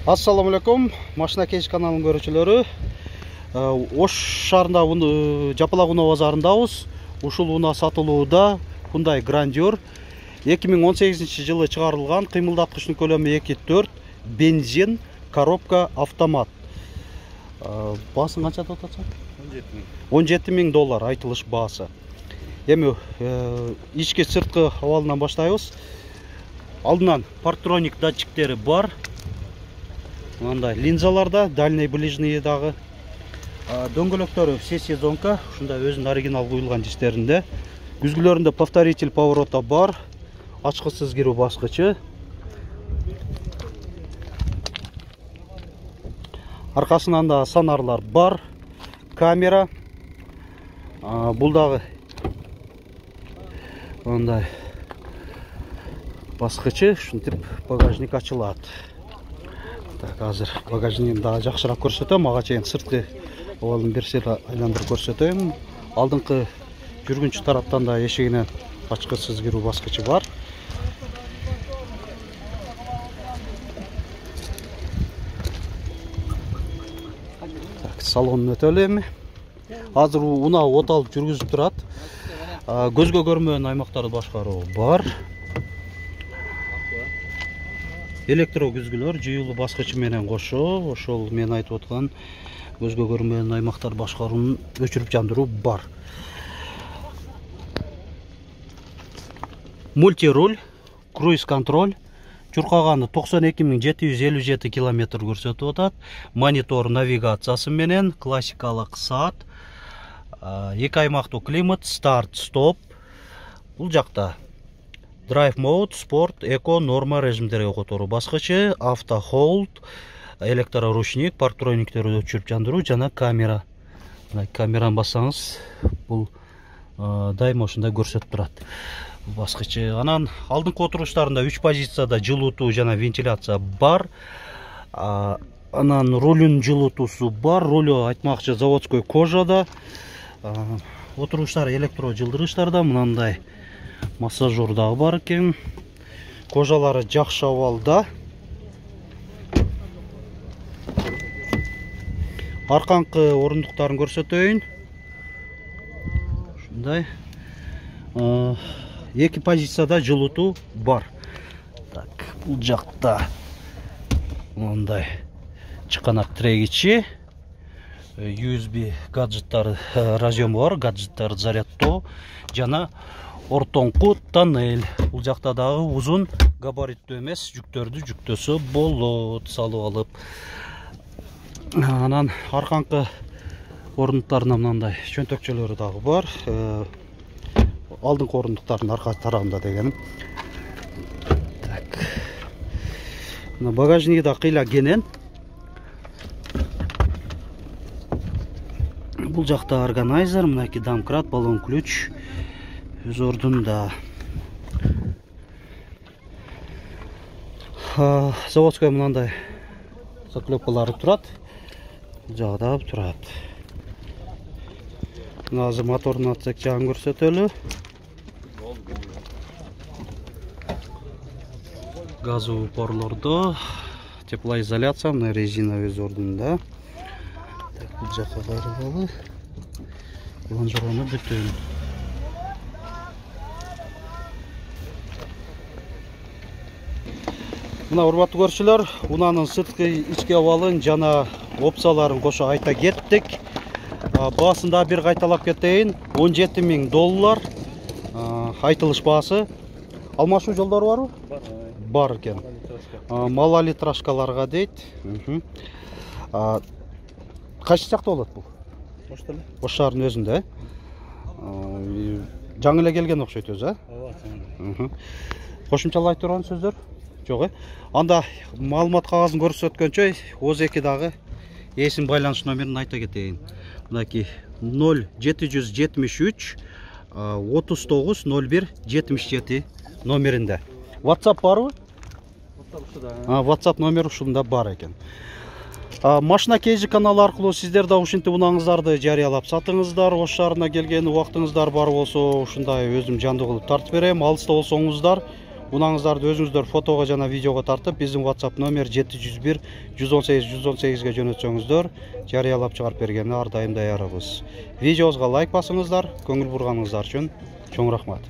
Assalamu alaikum, Машина Кейш каналынын көрүүчүлөрү. Ош шаарында Жапалак унаа базарындабыз. Ушул унаа сатылууда Hyundai Grandeur 2018-жылы чыгарылган, кыймылдаткычтын көлөмү 2.4, бензин, коробка, автомат. Баасын канча деп атасың? $17,000 айтылыш баасы. Эми ички сырткы абалынан баштайбыз. Алдынан парктроник датчиктери бар. Мындай линзаларда, дальний ближний дагы. Дөңгөлөктөрү все сезонка, ушундай өзүнүн оригинал куюлган жистеринде. Күзгүлөрүндө повторитель поворота бар. Ачкычсыз кирүү баскычы. Аркасынан да сонарлар бар. Камера. Бул дагы мындай баскычы, ушинтип багажник ачылат. Так, азыр багажнигин дагы жакшыраак көрсөтөм. Ага чейин сырткы абалын берсел айландырып көрсөтөм. Алдыңкы жүргүнчү тараптан да эшигинен ачкычсыз кирүү баскычы бар. Так, салонун өтөлү эми. Азыр унаа от алып жүргүзүп турат. Көзгө көрмөгөн аймактарды башкаруу бар. Электро күзгүлөр жүйүлүү баскычы менен кошо, ошол мен айтып аткан көзгө көрмөгөн аймактар башкаруунун өчүрүп жандыруу бар. Мультируль, круиз контроль, чуркаганы 92.757 км көрсөтүп атат. Монитор навигациясы менен, классикалык саат, эки аймактуу климат, старт, стоп. Бул жакта Drive Mode, Sport, Eco, Norma режимдерге которуу баскычы, Auto Hold, электроручник, парктрониктерди өчүрүп жандыруу жана камера. Камераны бассаңыз, бул дайыма ушундай көрсөтүп турат. Баскычы. Анан алдыңкы отуруштарында 3 позицияда жылуутуу жана вентиляция бар. Анан рулүн жылуутуусу бар. Рулю айтмакчы заводской кожада. Отуруштар электро жылдыргычтарда, мынандай массажер дагы бар экен. Кожалары жакшы абалда. Арканкы орундуктарын көрсөтөйүн. Ушундай. Эки позицияда жылуутуу бар. Так, бул жакта мындай чыканак тирегичи, USB гаджеттер разъему бар, гаджеттер зарядтоо жана ортоңку тоннель. Бул жакта дагы узун габариттүү эмес жүктөрдү жүктөсө болот, салып алып. Анан арканкы орундуктарына мындай чөнтөкчөлөрү дагы бар. Алдыңкы орундуктардын арка тарабында дегеним. Так. Багажниги да кыйла кенен. Бул жакта органайзер, мынакей домкрат, баллон ключ өз ордунда. Заводской мынандай заклепкалары турат. Жагда турат. Азыр мотордун отсек жагын көрсөтөлү. Газовый упорлордо теплоизоляция, мына резина өз ордунда. Бул жака кайрылалы. Лонжерону бүтүн. Мына урматтуу көрүүчүлөр, унаанын сырткы ички абалын жана опцияларын кошо айта кеттик. Баасын да бир кайталап кетейин. $17,000 айтылыш баасы. Алмашуу жолдору барбы? Бар экен. Малолитражкаларга дейт. Кайсы жакта болот бул? Ош шаарынын өзүндө, жаңы эле келген окшойт өзү, ооба. Кошумчалай турган сөздөр жок, Анда маалымат кагазын көрсөткөнчө О2 дагы эсин байланыш номерин айта кетейин. Мынакей 0773 39 01 77 номеринде. WhatsApp барбы? WhatsApp номер ушунда бар экен. Машина Кейш каналы аркылуу сиздер да ушинтип унааңыздарды жарыялап сатыңыздар. Ош шаарына келген убактыңыздар бар болсо, ушундай өзүм жандуу кылып тартып берем. Алыста болсоңуздар Унаңыздарды өзүңүздөр фотого жана видеого тартып, биздин WhatsApp номер 701 118 118ге жөнөтсөңүздөр, жарыялап чыгарып бергенге ар дайым даярбыз. Видеобузга лайк басыңыздар, көңүл бурганыңыздар үчүн чоң рахмат.